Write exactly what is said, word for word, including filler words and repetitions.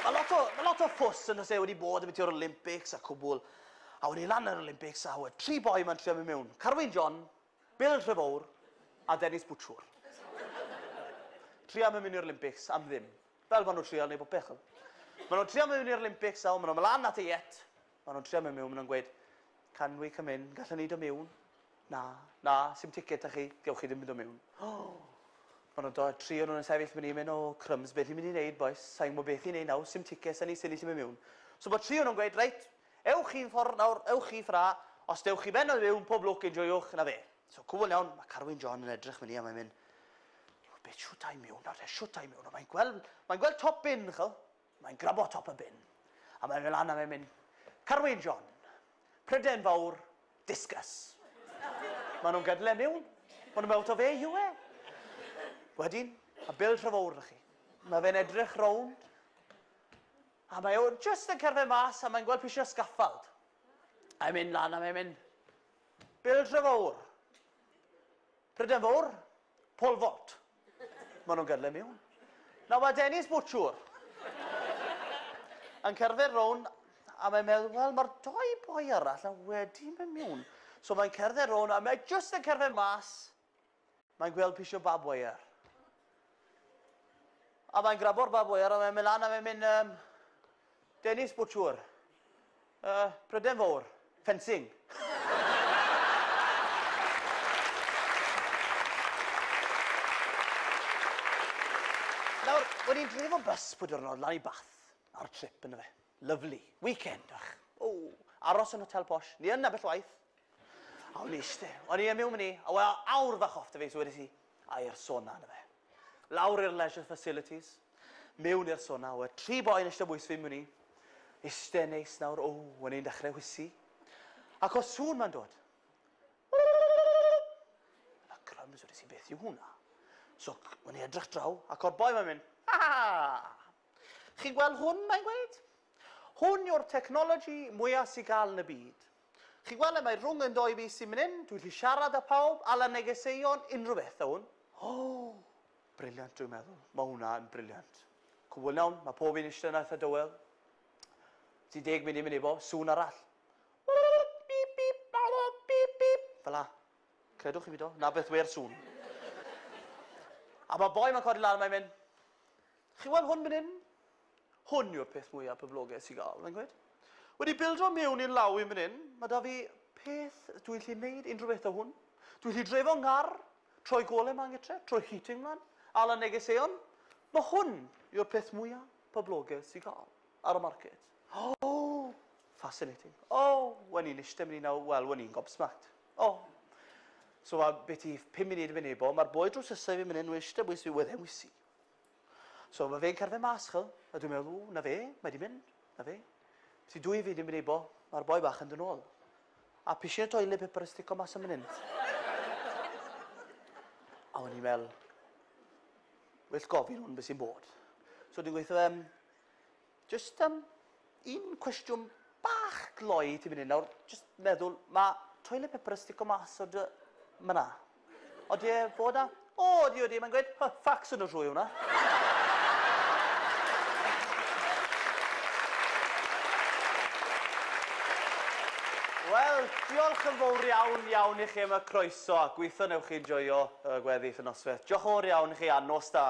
Mae lot o, ma lot o ffws yn oes e wedi bod ambiti'r Olympics a cwbl. A wedi lan yr Olympics a wedi tri boi ma'n trio mynd mewn. Carwyn John, Bill Trefowr a Dennis Butchwr. Trio mynd i'r Olympics am ddim. Fel maen nhw'n trio neud popeth. Maen nhw'n trio mynd i'r Olympics a maen nhw'n mynd lan at y jet. Maen nhw'n trio mynd mewn, maen nhw'n gweud, can we come in? Gallwn ni dod mewn? Na, na, sim ticket â chi, gewch chi ddim mynd o mewn. Oh. Maen nhw'n dod, tri o'n nhw'n sefyll mynd i mynd, o, crumbs, beth i'n mynd i wneud, boys? Sa'n gwybod beth i'n wneud nawr, sim tickets, a ni sy'n mynd mewn. So bod tri o'n nhw'n gweud, reit, ewch chi'n ffordd nawr, ewch chi ffra, os dewch chi ben o mewn, pob lwc, enjoywch, na fe. So cwbl iawn, mae Carwyn John yn edrych mynd i a mae'n mynd, beth siwt i mewn nawr, siwt i mewn, mae'n gweld, mae'n gweld top bin, chel, mae'n grabo top y bin. A mae'n mynd lan a mae'n mynd, Carwyn John, Prydain Fawr, discus. Maen nhw'n gadael e mewn, maen nhw'n meddwl o fe yw e. Wedyn, a Bill Trefowr chi. Mae fe'n edrych rownd, a mae o just yn cerdded mas a mae'n gweld pisio scaffold. A mae'n mynd lan a mae'n mynd, Bill Trefowr, Prydain Fawr, pole vault. Maen nhw'n gadael e mewn. Nawr mae Dennis Butchwr yn cerdded rownd a mae'n meddwl, wel, mae'r doi boi arall yn wedi mynd mewn. So mae'n cerdded rownd a mae just yn cerdded mas, mae'n gweld pisio barbed wire. A mae'n grabo'r barbed wire a mae'n mynd lan a mae'n mynd, um, Dennis Butchwr, uh, Prydain Fawr, fencing. Nawr, o'n i'n dreifo bus pwy diwrnod lan i Bath ar trip yna fe. Lovely. Weekend, ach. O, aros yn hotel posh. Ni yn ambell waith. A o'n i eiste. O'n i yn mewn mynd i, a wel, awr fach off dy fi, so wedes i, a i'r sauna yna fe. Lawr i'r leisure facilities, mewn i'r sauna, o, tri boi yn eistedd bwys fi mewn i. Eiste neis nawr, o, o'n i'n dechrau hwysi. Ac o sŵn ma'n dod. A crumbs, wedes i, beth yw hwnna? So, o'n i edrych draw, ac o'r boi ma'n mynd, ha! Chi'n gweld hwn, mae'n gweud? Hwn yw'r technology mwyaf sy'n gael yn y byd. Chi'n gweld e, mae rhwng yn doi bys sy'n mynd hyn, dwi'n gallu siarad â pawb, ala negeseuon, unrhyw beth o hwn. Oh, brilliant dwi'n meddwl. Mae hwnna yn brilliant. Cwbl iawn, mae pob un eistedd yna eitha dywel. Ti deg munud mynd i bo, sŵn arall. Bip, bip, bip, bip. Fel la. Credwch chi fi do, na beth wer sŵn. A mae boi ma'n codi lan, mae'n mynd, chi'n gweld hwn mynd hyn? Hwn yw'r peth mwyaf poblogaidd sy'n gael, mae'n gweud. Wedi bildo mewn i'n law i'n mynd hyn, mae da fi peth, dwi'n gallu neud unrhyw beth o hwn. Dwi'n gallu dreifo ngar, troi golau ma'n gytre, troi heating mlaen, ala negeseuon. Mae hwn yw'r peth mwyaf poblogaidd sy'n gael ar y market. Oh, fascinating. Oh, wen i'n eistedd mynd i nawr, wel, wen i'n gobsmacked. Oh. So mae beth i pum munud yn mynd i bo, mae'r boi drws nesaf fi'n mynd hyn, eistedd bwys fi, wedd e'n wysi. So mae fe'n cerdded mas, chel, a dwi'n meddwl, o, na fe, mae di mynd, na fe. Ti dwy fi ddim yn ei bo, mae'r boi bach yn dod nôl. A pisio toilet paper yn stico mas am mynd. A o'n i'n meddwl, well gofyn hwn beth sy'n bod. So dwi'n gweithio fe, um, just um, un cwestiwn bach gloi ti'n mynd nawr, just meddwl, mae toilet paper yn stico mas o dy... myna. Odi e fod na? O, odi, odi, mae'n gweud, ffacs yn y trwy hwnna. Wel, diolch yn fawr iawn iawn i chi am y croeso a gweithio newch chi enjoio y gweddill y noswaith. Diolch yn fawr iawn i chi a nos da.